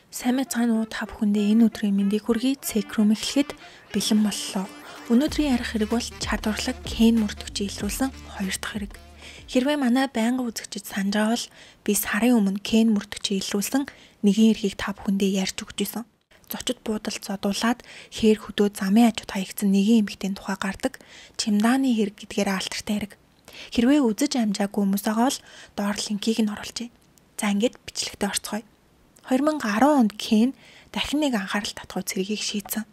Сайн мэцгааны та бүхэндээ энэ өдрийн мэндийг хүргэе. Цекрум эхлэхэд бэлэн боллоо. Өнөөдрийн ярих хэрэг бол чадварлаг Кен мөрдөгчийн илрүүлсэн 2 дахь хэрэг. Хэрвээ манай байнга үзэгчид санаж байгаа бол би сарын өмнө Кен мөрдөгчийн илрүүлсэн нэгэн эрхийг та бүхэндээ ярьж өгч байсан. Зочид буудалд зодуулаад хээр хөдөө замын хажууд хаягдсан нэгэн эмэгтэй тухай гардаг чимдааны хэрэг гэдгээр алтартай хэрэг. Хэрвээ үзэж амжаагүй хүмүүс байгаа бол доор линкийг нь оруулъя. За ингээд бичлэгтээ орцгоё. 2010 онд Кен дахин нэг анхаарал татгуй цэргийг шийдсэн.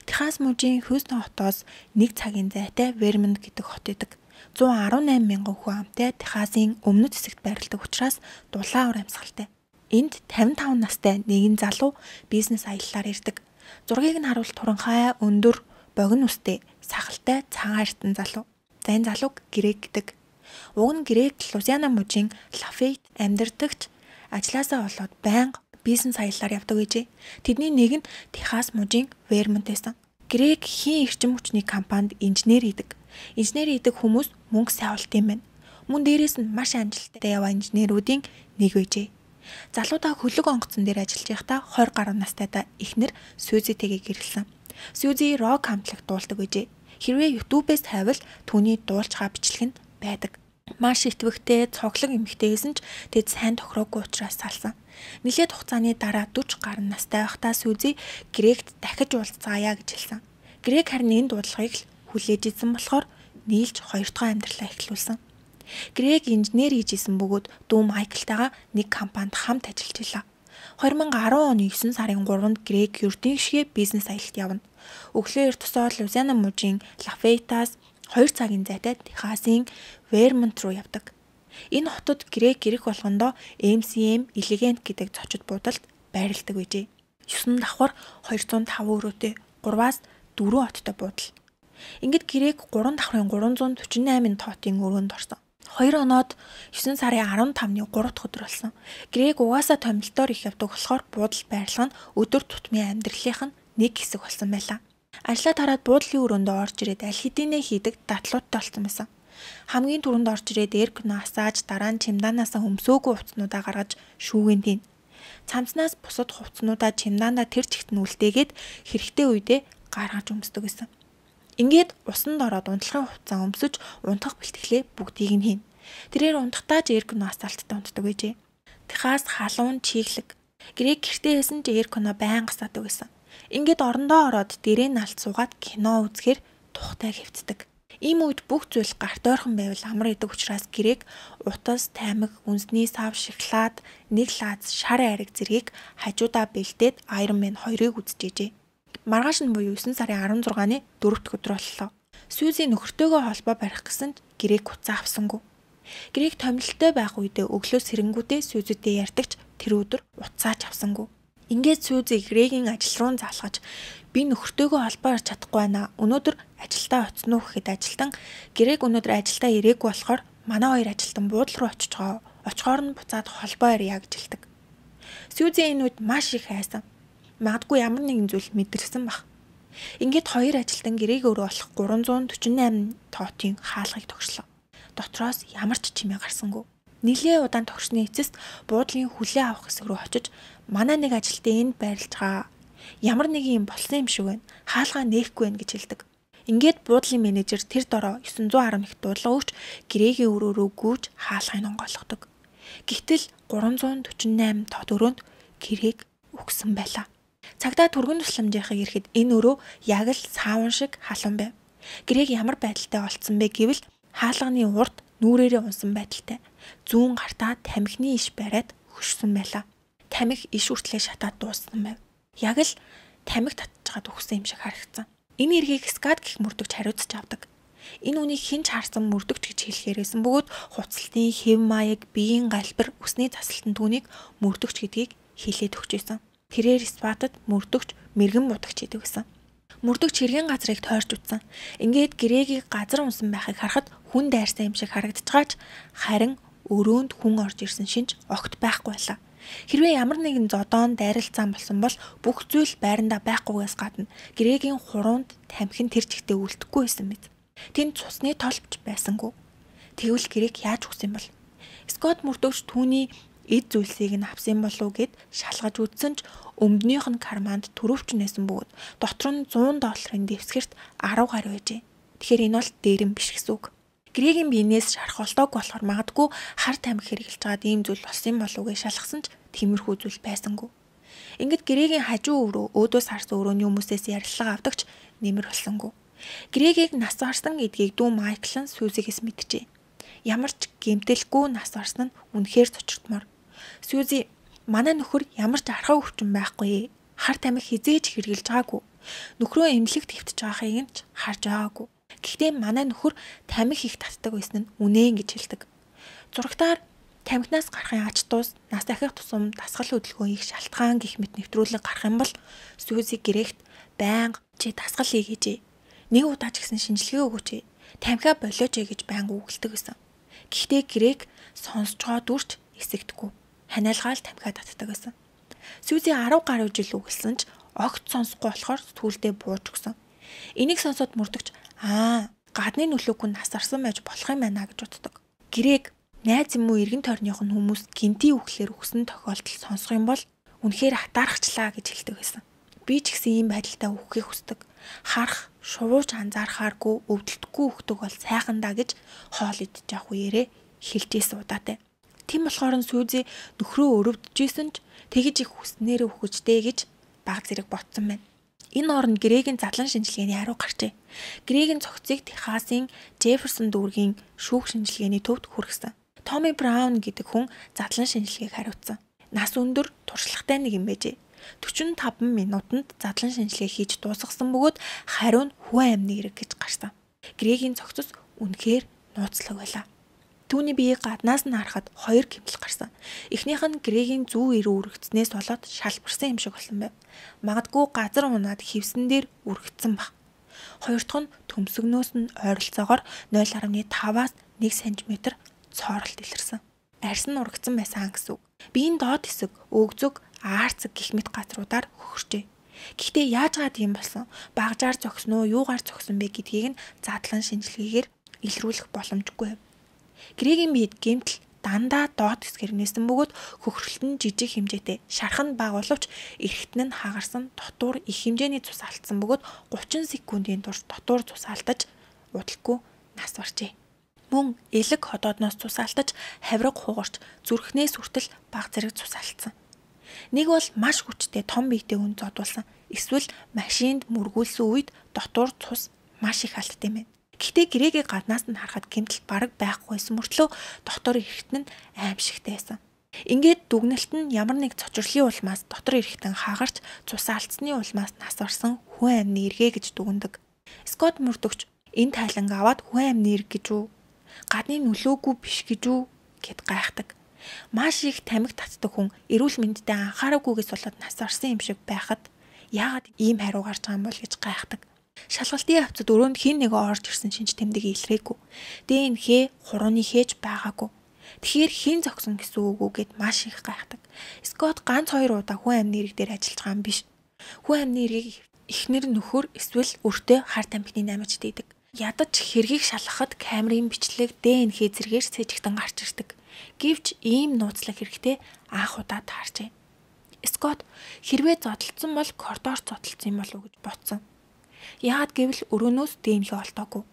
Техас мужийн Хьюстон хотоос 1 цагийн зайтай Вермонт гэдэг хот идэг. 118 мянган хүн амтай Техасын өмнөд хэсэгт байрладаг учраас дулаан уур амьсгалтай. Энд 55 настай нэгэн залуу бизнес аяллаар ирдэг. Зургийг нь харуул туранхай, өндөр, богино үстэй, сахалтай, цагаан эртэн залуу. За энэ залууг Грег гэдэг. Уг нь Грег Лузиана мужийн Лафейт амьдардагч ажлаасаа болоод байнга бизнес аяллаар явдаг гэжээ. Тэдний нэг нь Техас мужийн Вермонт байсан. Грег хийн эрчим хүчний компанид инженер хийдэг. Инженер хийдэг хүмүүс мөнгө сайвалт юм байна. Мөн дээрээс нь маш амжилттай яваа инженерүүдийн нэг байжээ. Залуудаа хөлөг онгоцон дээр ажиллаж байхдаа 20 гаруй настайдаа эхнэр Сюзитэйгээ гэрэлсэн. Сюзи рок хамтлаг дуулдаг байжээ. Хэрвээ YouTube-ээс тавил түүний дуулж байгаа бичлэг нь байдаг. Маш итгэвчтэй, цоглог эмэгтэй гэсэн ч тэд сайн тохироогүй учраас салсан. Нилээд хугацааны дараа 40 гаруй настай байхдаа Сюзи Грегт дахиж уулзцаая гэж хэлсэн. Грег харин энэ дуудлагыг л хүлээж идсэн болохоор нийлж 2 дахь амьдралаа эхлүүлсэн. Грег инженер хийж исэн бөгөөд дүү Майклтайгаа нэг компанид хамт ажиллаж байлаа. 2010 оны 9 сарын 3-нд Грег ердийн гишгээ бизнес аялалд явна. Өглөө эртсөөр Лузиана мужийн Лафейтаас 2 цагийн зайтай Техасын Вермонт руу явдаг. Энэ хотод Грег ирэх болгондоо MCM Elegant гэдэг зочид буудалд байрладаг байжээ. 9 давхар 205 өрөөтэй 3-аас 4 хоттой буудал. Ингээд Грег 3 давхрын 348 тоотын өрөөнд орсон. 2 оноод 9 сарын 15-ны 3 дахь өдөр болсон. Грег угаасаа томилтоор их явдаг болохоор буудал байрлал нь өдөр тутмын амьдралынх нь нэг хэсэг болсон байлаа. Ажлаа тараад буудлын өрөөндөө орж ирээд аль хэдийнэ хийдэг датлуудтай болсон байсан. Хамгийн түрүүнд орж ирээд эргэн асааж дараа нь чемдаанаас өмсөөгүй хувцснуудаа гаргаж шүүгэн tiin. Цамцнаас бусад хувцснуудаа чемдаандаа тэр чигт нь үлдээгээд хэрэгтэй үедээ гаргаж өмсдөг гэсэн. Ингээд усанд ороод унтлагын хувцас өмсөж унтах бэлтгэлээ бүгдийг нь хийн. Тэрээр унтахтаа ч эргэн асфальттай унтдаг байжээ. Техас халуун чиглэг. Грег гэртээ байсан ч эрконо байнга садаг байсан. Ингээд орондоо ороод дээрээ нь алт суугаад кино үзэхээр тухтай хэвцдэг. Ийм үед бүх зүйл гарт ойрхон байвал амар идэг учраас Грег утас, таймаг, үнсний сав, шоколад, нэг лааз, шар айраг зэргийг хажуудаа бэлдээд Iron Man 2-ыг үзчихжээ. Маргааш нь буюу 9 сарын 16-ны 4 дахь өдөр боллоо. Сюзи нөхөртөөгөө холбоо барих гэсэнд Грег хуцаа авсангүй. Грег томилолтой байх үедээ өглөө сэрэнгүүдээ Сюзитэй ярьдагч тэр өдөр уцаач авсангүй. Ингээд Сюзи Грегийн ажил руу залгаж би нөхөртөөгөө холбоо барьж чадахгүй байна. Өнөөдөр ажилдаа оцсон уу гэхэд ажилтан Грег өнөөдөр ажилдаа ирээгүй болохоор манай хоёр ажилтан буудал руу очиж байгаа. Очихоор нь буцаад холбоо ярья гэж хэлдэг. Сюзи энэ үед маш их хайсан. Магадгүй ямар нэгэн зүйл мэдэрсэн баг. Ингээд хоёр ажилтан Грег өөрөө болох 348 тоотын хаалгыг тогшлоо. Дотроос ямар ч чимээ гарсангүй. Нилээ удаан тогшны эцэст буудлын хүлээ авах хэсэг рүү очиж манай нэг ажилтан энд байрлаж байгаа. Ямар нэг юм болсон юм шиг байна. Хаалгаа нээхгүй байна гэж хэлдэг. Ингээд буудлын менежер тэр дороо 911 дуудлага өгч Грегийн өрөөрөө гүйж хаалгыг онгойлгодог. Гэтэл 348 тот өрөөнд Грег өгсөн байлаа. Цагдаа түргэн тусламжийнхыг ирэхэд энэ өрөө яг л саавн шиг халуун байв. Грег ямар байдалтай олцсон бэ гэвэл хаалганы урд нүрээрээ унсан байдалтай. Зүүн гартаа тамхины иш бариад хөшсөн байлаа. Тамхи иш хүртлээ шатаад дууссан байв. Яг л тамхи татчихад өгсөн юм шиг харагдсан. Энэ эргийг скад гэх мөрдөгч хариуцж авдаг. Энэ үнийг хэн ч харсан мөрдөгч гэж хэлэхээрсэн бөгөөд хуцалтын хэв маяг, биеийн галбир, өсний засалтын түүнийг мөрдөгч гэдгийг хэлээд өгч байсан. Тэрээр Спатад мөрдөгч мэрэгэн будагч гэдэг байсан. Мөрдөгч хэргийн газрыг тойрч утсан. Ингээд Грегийг газар унсан байхыг харахад хүн дайрсан юм шиг харагдчихаач харин өрөөнд хүн орж ирсэн шинж огт байхгүй байлаа. Хэрвээ ямар нэгэн зодоон дайралцаан болсон бол бүх зүйл байрандаа байхгүйгээс гадна Грегийн хуруунд тамхин тэр чигтээ үлдэхгүй байсан мэт. Тэнд цусны толбч байсангүй. Тэгвэл Грег яаж өгсөн юм бол? Скот мөрдөгч түүний эд зүйлсийг нь авсан болов гэд шалгаж үзсэн ч Өмднийх нь карманд төрөвч нээсэн бөгөөд дотор нь $100 дэвсгэрт 10 гаруй байжээ. Тэгэхээр энэ бол дээрэн биш гэсэн үг. Грегийн биенээс шарах болтойг болохоор магадгүй хар тамхи хэрглэж байгаад ийм зүйл болсон болов уу гэж шалгасан ч тиймэрхүү зүйл байсангүй. Ингээд Грегийн хажуу өрөө өөдөөс харсан өрөөний хүмүүсээс ярилцлага авдагч нэмэр болсонгүй. Грегийг нас барсан гэдгийг дүү Майкл нь Сьюзигээс мэджээ. Ямар ч гэмтэлгүй нас барсан нь үнэхээр цочртмор. Сьюзи, манай нөхөр ямар ч архаг өвчин байхгүй. Хар тамхи хизээж хэрглэж байгаагүй. Нөхрөө эмнэлэгт хэвтэж байгааг нь ч харж байгаагүй. Гэхдээ манай нөхөр тамхи их татдаг байсан нь үнэн гэж хэлдэг. Зурагтаар тамхинаас гарахын ач тус, нас дахих тусам дасгал хөдөлгөөн их шалтгаан гэх мэт нэвтрүүлэг гарах юм бол Сьюзи Грегт байнга чи дасгал хийгээжээ. Нэг удаа ч гэсэн шинжилгээ өгөөч. Тамхиа болооч гэж байнга үгэлдэг байсан. Гэхдээ Грег сонсож байгаа дүрч эсэгдэхгүй. Ханиалгаал тамхиа татдаг байсан. Сьюзи 10 гаруй жил үгэлсэн ч огт сонсохгүй болохоор сүүлдээ бууж өгсөн. Энийг сонсоод мөрдөгч гадны нөлөөгүй нас арсан байж болох юм байна гэж боддог. Грег найз юм уу эргэн тойрных нь хүмүүс гинти үхлээр өгсөн тохиолдол сонсох юм бол үнэхээр хатаархчлаа гэж хэлдэг байсан. Би ч гэсэн ийм байдалтай үххийг хүсдэг. Харах, шувууж анзаархааргүй, өвдөлтгүй үхдэг бол сайхан даа гэж хоол идэж явах үеэрээ хэлжсэн удаатай. Тийм болохоор Сьюзи нөхрөө өрөвдөжсэн ч тэгж их хүснээрээ үхэжтэй гэж баг зэрэг ботсон байна. Энэ оронд Грегийн задлан шинжилгээний хариу гарчээ. Грегийн цогцыг Техасын Джефферсон дүүргийн шүүх шинжилгээний төвд хүргэсэн. Томми Браун гэдэг хүн задлан шинжилгээг хариуцсан. Нас өндөр, туршлагатай нэг юм байжээ. 45 минутанд задлан шинжилгээ хийж дуусгасан бөгөөд хариу нь хүн амны эрэг гэж гарсан. Грегийн цогцос үнэхээр нууцлаг байлаа. Түүний биеийг гаднаас нь харахад 2 гэмтэл гарсан. Эхнийх нь Грегийн зүү эрүү үргэцснээс болоод шалбарсан юм шиг болсон байв. Магадгүй газар унаад хевсэн дээр үргэцсэн баг. Хоёр дахь нь төмсгнөөс нь ойролцоогоор 0.5-аас 1 см цооролт илэрсэн. Арьс нь ургацсан байсан гэсэн үг. Биеийн доод хэсэг, өгзөг, аарцэг гэх мэт газруудаар хөхөрчээ. Гэхдээ яаж гад юм болсон? Багжаар зогсно уу, юугаар зогсон бэ гэдгийг нь задлан шинжилгээгээр илрүүлэх боломжгүй. Грегийн биед гэмтэл дандаа доод хэсгээр нээсэн бөгөөд хөхрөлт нь жижиг хэмжээтэй, шарх нь бага боловч эргэтэн нь хагарсан дотуур их хэмжээний цус алдсан бөгөөд 30 секундын турш дотуур цус алдаж удалгүй нас баржээ. Мөн элэг ходоодноос цус алдаж, хавраг хугарч, зүрхнээс хүртэл бага зэрэг цус алдсан. Нэг бол маш хүчтэй том биетэй хүн зодуулсан. Эсвэл машинд мөргүүлсэн үед дотуур цус маш их алдсан юм байна. Гэхдээ Грегийг гаднаас нь харахад гэмтэл бараг байхгүйсэн мөртлөө дотор эргэтэн нь аимшигтай байсан. Ингээд дүгнэлт нь ямар нэг цочрлын улмаас дотор эргэтэн хагарч цус алдсны улмаас нас барсан хүн амны эргэ гэж дүгнэдэг. Скот мөрдөгч энэ тайланг аваад хүн амны эрг гэж үү? Гадны нөлөөгүй биш гэж үү гэд гайхдаг. Маш их тамхи татдаг хүн эрүүл мэндэд анхаарахгүйгээс болоод нас барсан юм шиг байхад яагаад ийм хариу гарч байгаа юм бол гэж гайхдаг. Шалгалтын хавцад өрөөнд хин нэг орж ирсэн шинж тэмдэг илрээгүй. ДНХ хурууны хээж байгаагүй. Тэгэхээр хин зогсон гэсэн үг үү гэд маш их гайхдаг. Скот ганц 2 удаа хүн амны эрэг дээр ажиллаж байгаа юм биш. Хүн амны эрэгийг эхнэр нөхөр эсвэл өртөө хар тамхины наймагч дийдэг. Ядаж хэргийг шалгахад камерын бичлэг ДНХ зэргээр цэжигтэн гарч ирдэг. Гэвч ийм нууцлах хэрэгтэй анх удаа таарчээ. Скот хэрвээ зодтолцсон бол коридор зодтолцсон юм болов уу гэж бодсон. Яагаад гэвэл өрөөнөөс ДНХ олдоогүй.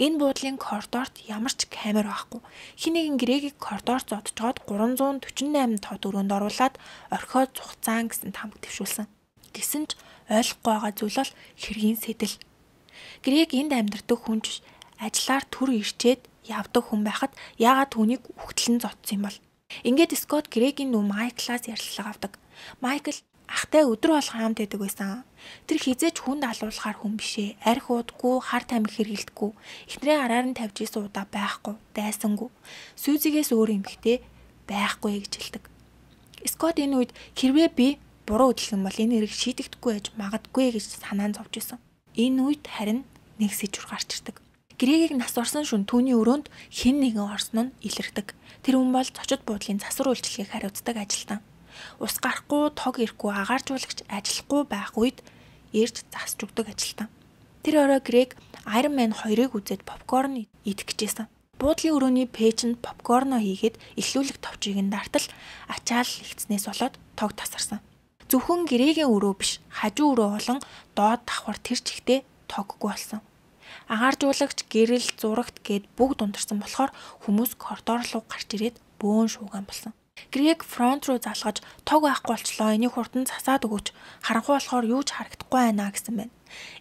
Энэ буудлын коридорт ямар ч камер байхгүй. Хин нэгэн Грегийг коридорт зодчоод 348 тод өрөөнд оруулаад орхиод цугцаан гэсэн тамга твшүүлсэн. Гэсэн ч ойлгохгүй байгаа зүйл бол хэргийн сэтэл. Грег энд амьдардаг хүн ч ажиллаар төр ирчээд явдаг хүн байхад яагаад түүнийг үхтлэн зодсон юм бол. Ингээд Скот Грегийн нүү Майклаас ярилцлага авдаг. Майкл ахтай өдөр болгон хамт байдаг байсан. Тэр хизээч хүнд алуулахаар хүн бишээ. Арх уудгүй, хар тамхи хэргэлдэггүй. Эхнэрээ араар нь тавьж исэн удаа байхгүй, дайсангүй. Сьюзигээс өөр эмэгтэй байхгүй гэж хэлдэг. Скот энэ үед хэрвээ би буруу хөдөлгөн бол энэ хэрэг шийдэгдэхгүй байж магадгүй гэж санаанд зовж исэн. Энэ үед харин нэг сэжүр гарч ирдэг. Грегийг нас орсон шөнө түүний өрөөнд хэн нэгэн орсон нь илэрдэг. Тэр хүн бол зочид буудлын засвар үйлчлэгийг хариуцдаг ажилтан. Ус гарахгүй, тог ирэхгүй, агааржуулагч ажиллахгүй байх үед ирж засч өгдөг ажилтан. Тэр орой Грег Iron Man 2-ыг үзээд попкорн идэх гэжсэн. Буудлын өрөөний пэйжэнд попкорно хийгээд эхлүүлэх товчийг нь дартал ачаал ихтснээс болоод тог тасарсан. Зөвхөн гэрээгийн өрөө биш, хажуу өрөө болон доод давхар тэр чигтээ тоггүй болсон. Агааржуулагч, гэрэл, зурагт гээд бүгд унтарсан болохоор хүмүүс коридор руу гарч ирээд бөөн шууган болсон. Грэг фронт руу залгаж тог байхгүй болчлоо. Энийг хурдан засаад өгөөч. Харанхуй болохоор юу ч харагдахгүй байна гэсэн байна.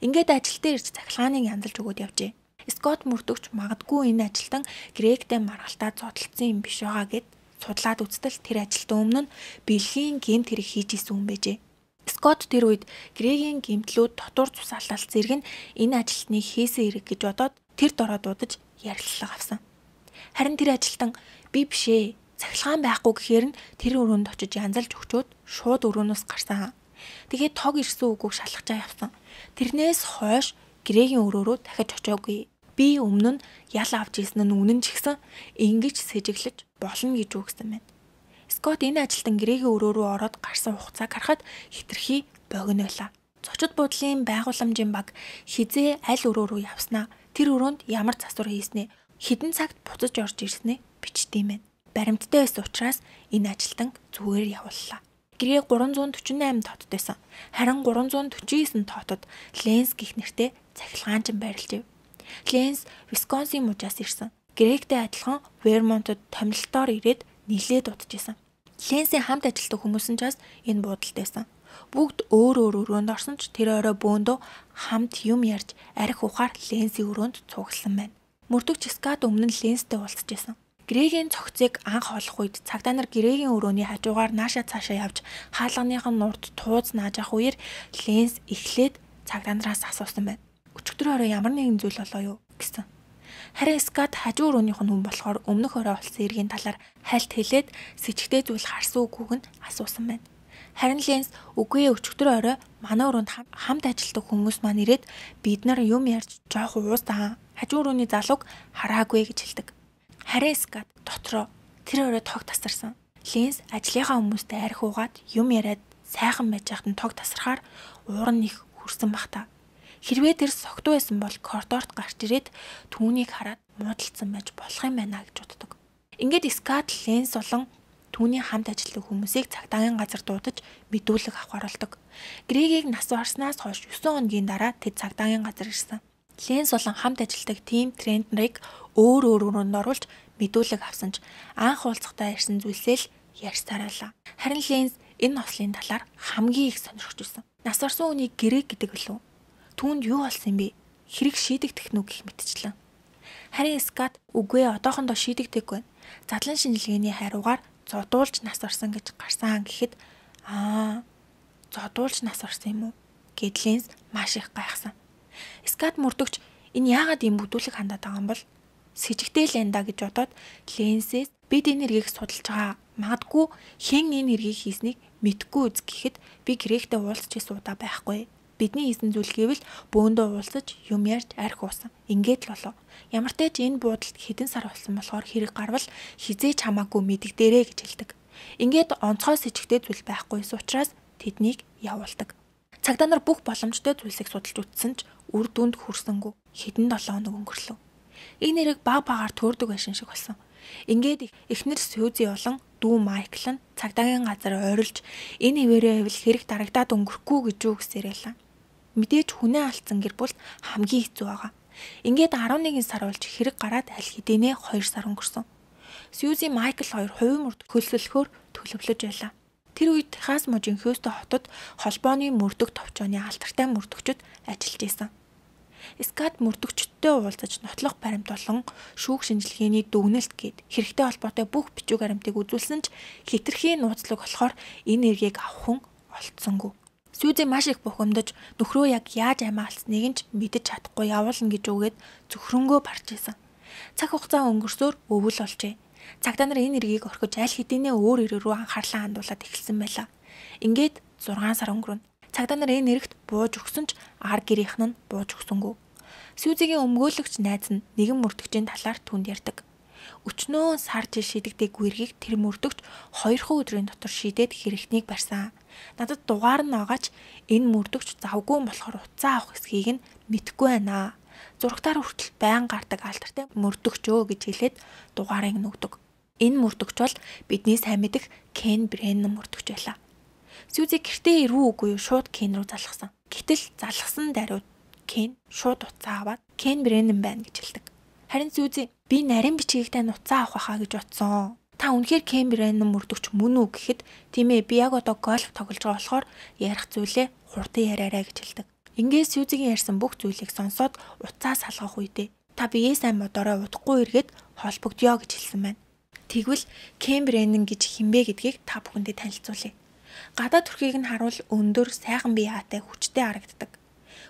Ингээд ажилтаа ирж цахилгааныг янзалж өгөөд явжээ. Скот мөрдөгч магадгүй энэ ажилтан Грэгтэй маргалтаа зодтолсон юм биш байгаа гэд судлаад үзтэл тэр ажилтан өмнө нь бэлгийн гэмт хэрэг хийж исэн юм байжээ. Скот тэр үед Грэгийн гэмтлүүд дотор цус алдалт зэрэг нь энэ ажилтныг хийсэн хэрэг гэж бодоод тэр дороо дуудаж ярилцлага авсан. Харин тэр ажилтан би бишээ, цахилгаан байхгүй гэхээр нь тэр өрөөнд очиж янзалж өгчөөд шууд өрөөнөөс гарсан. Тэгээд тог ирсэн үгүйг шалгачаа явсан. Тэрнээс хойш Грэгийн өрөөрөө дахиж очиагүй. Би өмнө нь ял авч ийсэн нь үнэн ч гэсэн ингэж сэжиглэж болно гэж үгсэн байна. Скот энэ ажилтан Грэгийн өрөө рүү ороод гарсан хугацааг харахад хитрхи богино байлаа. Зочид буудлын байгууламжийн баг хизээ аль өрөө рүү явснаа, тэр өрөөнд ямар засвар хийснээ, хэдэн цагт буцаж орж ирснээ бичдэм байна. Баримттай байсан учраас энэ ажилтан зүгээр явууллаа. Грэг 348 тоотод байсан. Харин 349 тоотод Ленс гэх нэртэй цахилгаанчин байрлажээ. Ленс Висконсин мужаас ирсэн. Грэгтэй адилхан Вермонтод томилтоор ирээд нилээд удажсэн. Ленсийн хамт ажилтдаг хүмүүс нь ч бас энэ буудалд байсан. Бүгд өөр өрөөнд орсон ч тэр орой бөөндөө хамт юм ярьж арх ухаар Ленсийн өрөөнд цугласан байна. Мөрдөгч Скат өмнө нь Ленстэй уулзчихсан. Грэгийн цогцыг анх олох үед цагдаа нар Грэгийн өрөөний хажуугаар нааша цаашаа явж хаалганых нь урд тууз нааж авах үеэр Ленс эхлээд цагдаа нараас асуусан байна. Өчигдөр орой ямар нэгэн зүйл болоо юу гэсэн. Харин Скат хажуу өрөөнийх нь хүн болохоор өмнөх орой болсон эргийн талаар хальт хэлээд сэжигтэй зүйл харсан үгүйг нь асуусан байна. Харин Ленс үгүй өчигдөр орой манай өрөөнд хамт ажилтдаг хүмүүс маань ирээд бид нар юм ярьж жоох уустаа хажуу өрөөний залууг хараагүй гэж хэлдэг. Харин Скат дотроо тэр орой тог тасарсан. Ленс ажлынхаа хүмүүстэй арх уугаад юм яриад сайхан байж байхад нь тог тасрахаар уур нь их хүрсэн бах та. Хэрвээ тэр согтуу байсан бол коридорт гарч ирээд түүнийг хараад муудалцсан байж болох юм байна гэж боддог. Ингээд Скат Ленс болон түүний хамт ажилладаг хүмүүсийг цагдаагийн газар дуудаж мэдүүлэг авах оролдог. Грэгийг нас барснаас хойш 9 хоногийн дараа тэд цагдаагийн газар ирсэн. Ленс болон хамт ажилладаг тим Трентнерийг өөр өрөөнд оруулж мэдүүлэг авсан ч анх уулзахдаа ирсэн зүйлсээ л ярьж тараалаа. Харин Ленс энэ нослын талаар хамгийн их сонирхож байсан. Нас барсан үнийг Грэг гэдэг билүү? Түүнд юу болсон юм бэ? Хэрэг шийдэгдэх нүг гэх мэтчлэн. Харин Скат үгүй одоохондоо шийдэгдэггүй байна. Задлан шинжилгээний хариугаар зодуулж нас орсон гэж гарсан гэхэд зодуулж нас орсон юм уу? Гэд Ленс маш их гайхсан. Скат мөрдөгч энэ яагаад ийм бүдүүлэг хандаад байгаа юм бол сэжигтэй л энэ да гэж бодоод Ленсээс бид энэ хэргийг судалж байгаа. Магадгүй хэн энэ хэргийг хийснийг мэдгүй үз гэхэд би Грэгтэй уулзч суудаа байхгүй. Бидний хийсэн зүйл гэвэл бөөндөө уулзаж юм ярьж арх уусан. Ингээд л болоо. Ямар ч тач энэ буудалд хэдэн сар болсон болохоор хэрэг гарвал хизээч хамаагүй мэддэгдэрээ гэж хэлдэг. Ингээд онцгой сэжигтэй зүйл байхгүйс учраас тэднийг явуулдаг. Цагдаа нар бүх боломжтой зүйлсийг судалж үзсэн ч үр дүнд хүрсэнгүй. Хэдэн 7 хоног өнгөрлөө. Энэ хэрэг баг багаар төөрдөг байшин шиг болсон. Ингээд эхнэр Сьюзи болон дүү Майкл нь цагдаагийн газар ойрлж энэ хിവэрээ хэвэл хэрэг дарагдаад өнгөрөхгүй гэж юу гэсээр байлаа. Мэдээж хүнээ алдсан гэр бүл хамгийн хэцүү байгаа. Ингээд 11 сар болж хэрэг гараад аль хэдийнэ 2 сар өнгөрсөн. Сьюзи Майкл хоёр хувийн мөрд хөлсөлөхөөр төлөвлөж байлаа. Тэр үед Техас мужийн Хьюстон хотод холбооны мөрдөг товчооны алдартай мөрдөгчд ажиллаж исэн. Скат мөрдөгчдтэй уулзаж нотлох баримт болон шүүх шинжилгээний дүгнэлт гээд хэрэгтэй холбоотой бүх бичиг баримтыг үзүүлсэн ч хитрхи нууцлаг болохоор энэ эргийг авах хүн олдсонгүй. Сьюзи маш их бухимдаж нөхрөө яг яаж амиа алдсныг нь ч мэдэж чадахгүй явуулна гэж үгээд зөвхрөнгөө барж исэн. Цаг хугацаа өнгөрсөөр өвөл олжээ. Цагдаа нар энэ эргийг орхиж аль хэдийнэ өөр эрэг рүү анхаарлаа хандуулад эхэлсэн байлаа. Ингээд 6 сар өнгөрнө. Цагдаа нар энэ эрэгт бууж өгсөн ч ар гэрийнх нь бууж өгсөнгүй. Сьюзигийн өмгөөлөгч найз нь нэгэн мөрдөгчийн талаар түнд ярьдаг. Өчнөө сар жил шийдэгдээгүй эргийг тэр мөрдөгч 2 өдрийн дотор шийдээд хэрэгтнийг барьсан. Надад дугаар нь байгаач энэ мөрдөгч завгүй болохоор уцаа авах эсхийг нь мэдэхгүй байна. Зурагтаар хүртэл байн гардаг алдартай мөрдөгчөө гэж хэлээд дугаарыг нүгдэг. Энэ мөрдөгч бол бидний сайн мэдэх Кен Бреннан мөрдөгч байлаа. Сүүзи гэртээ ирвүү үгүй юу шууд Кен рүү залгасан. Гэтэл залгасан даруйд Кен шууд уцаа аваад Кен Бреннан байна гэж хэлдэг. Харин Сүүзи би нарийн бичгийг тань уцаа авах хаа гэж бодсон. Та үнэхээр Кен Бреннан мөрдөгч мөн үү гэхэд тийм ээ би яг одоо гольф тоглож байгаа болохоор ярих зүйлээ хурдан яриараа гэж хэлдэг. Ингээд Сүүзигийн ярьсан бүх зүйлийг сонсоод уцаа салгах үедээ та биеэ сайн модороо удахгүй эргээд холбогдё гэж хэлсэн байна. Тэгвэл Кен Бреннан гэж хинбэ гэдгийг та бүхэндээ танилцуулъя. Гадаад төрхийг нь харуул өндөр сайхан бие хаатай хүчтэй харагддаг.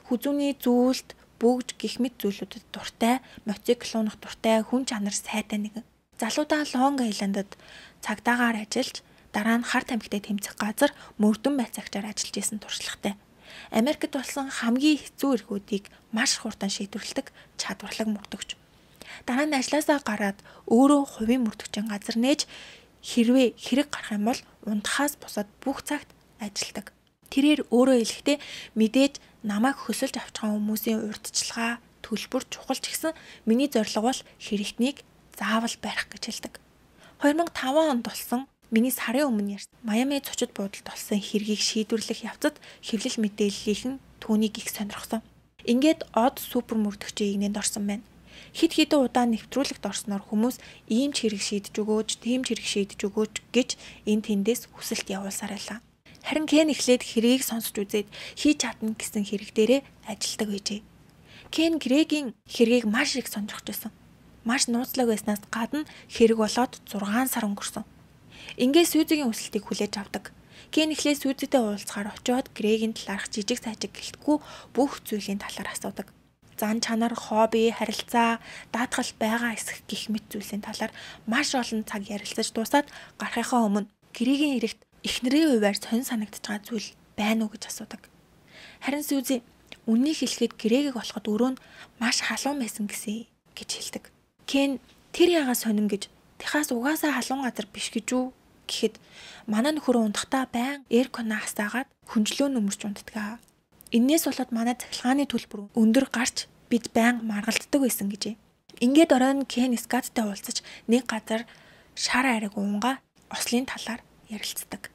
Хүзүүний зүйлд бүгж гих мэт зүйлүүдэд дуртай, мотоцикл унах дуртай, хүн чанар сайтай нэгэн. Залуудаа Лонг Айландад цагдаагаар ажиллаж, дараа нь Харт аймагт тэмцэх газар мөрдөн байцаагчаар ажиллаж исэн туршлагатай. Америкт болсон хамгийн хэцүү эргүүдийг маш хурдан шийдвэрлэдэг чадварлаг мөрдөгч. Дараа нь ажлаасаа гараад өөрөө хувийн мөрдөгчийн газар нээж хэрвээ хэрэг гарах юм бол унтахаас бусад бүх цагт ажилладаг. Тэрээр өөрөө хэлэхдээ мэдээж намайг хөсөлж авч байгаа хүмүүсийн урьдчилгаа, төлбөр чухал ч гэсэн миний зорилго бол хэрэгтнийг заавал барих гэж хэлдэг. 2005 онд болсон миний сарын өмнө ярьсан Майами цочид буудалд болсон хэргийг шийдвэрлэх явцад хэвлэл мэдээллийнхэн түүнийг их сонирхсон. Ингээд од супер мөрдөгчийн игнэнд орсон байна. Хид хідэн удаа нэвтрүүлэгт орсноор хүмүүс ийм ч хэрэг шийдэж өгөөч, тийм ч хэрэг шийдэж өгөөч гэж энэ тэндээс хүсэлт явуулсаар байлаа. Харин Кен эхлээд хэргийг сонсч үзээд хийж чадна гэсэн хэрэг дээрээ ажилдаг байжээ. Кен Грегийн хэргийг маш их сонирхож байсан. Маш нууцлаг байснаас гадна хэрэг болоод 6 сар өнгөрсөн. Ингээд Сүүзигийн хүсэлтийг хүлээж авдаг. Кен эхлээд Сүүзитэй уулзахаар очиод Грегийн талаарх жижиг сажиг гэлтгүй бүх зүйлийн талаар асуудаг. Зан чанар, хобби, харилцаа, даатгал байгаа эсэх гих мэт зүйлсийн талаар маш олон цаг ярилцаж дуусаад гарахынхаа өмнө Грегийн эрэхт эхнэрийн хувьар сонь санагдаж байгаа зүйл байна уу гэж асуудаг. Харин Сүүзи үннийг хэлэхэд Грегийг болоход өөрөө нь маш халуун байсан гэсэн гэж хэлдэг. Кен тэр ягаа сонин гэж тэхаас угаасаа халуун газар биш гэж үү гэхэд манай нөхөр унтахтаа байн эркона хасаагаад хүнжлөө нөмөрч унтдаг. Иннээс болоод манай цахилгааны төлбөр өндөр гарч бид байн маргалддаг байсан гэжээ. Ингээд оройн Кен Скаттай уулзаж нэг газар шар ариг уунга ослын талаар ярилцдаг.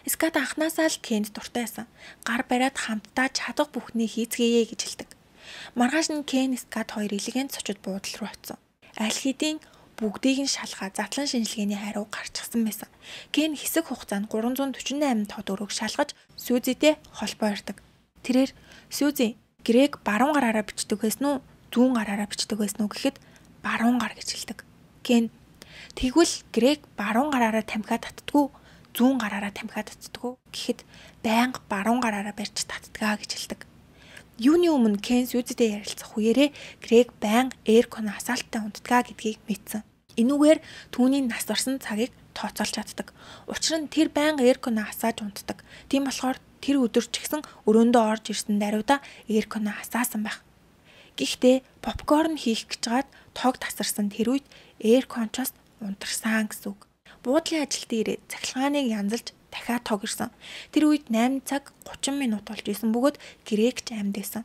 Скат анхнаасаа л Кенд дуртай байсан. Гар бариад хамтдаа чадах бүхний хийцгээе гэж хэлдэг. Маргааш нь Кен Скат хоёр элегэнт цочид буудал руу очив. Аль хэдийн бүгдийг нь шалгаа задлан шинжилгээний хариу гарчихсан байсан. Кен хэсэг хугацаанд 348 тод өрөөг шалгаж Сүүзитэй холбоо ярьдаг. Тэрээр Сүүзи Грег баруун гараараа бичдэг байсан уу? Зүүн гараараа бичдэг байсан уу гэхэд баруун гар гэж хэлдэг. Кен тэгвэл Грег баруун гараараа тамхиад татдаггүй, зүүн гараараа тамхиад татдаггүй гэхэд байнга баруун гараараа барьж татдгаа гэж хэлдэг. Юуны өмнө Кен Сүүзитэй ярилцах үеэрээ Грег байнга эркона хасаалттай унтдгаа гэдгийг мэдсэн. Энүүгээр түүний нас орсон цагийг тооцоолж чаддаг. Учир нь тэр байнга эркона хасааж унтдаг. Тийм болохоор тэр өдөр ч гэсэн өрөөндөө орж ирсэн даруйда эркона хасаасан байх. Гэхдээ попкорн хийх гэж гад тог тасарсан тэр үед эркончоос унтарсан гэсэн үг. Буудлын ажилтны ирээд цахилгааныг янзалж дахиад тог ирсэн. Тэр үед 8 цаг 30 минут болж исэн бөгөөд Грегч амьд байсан.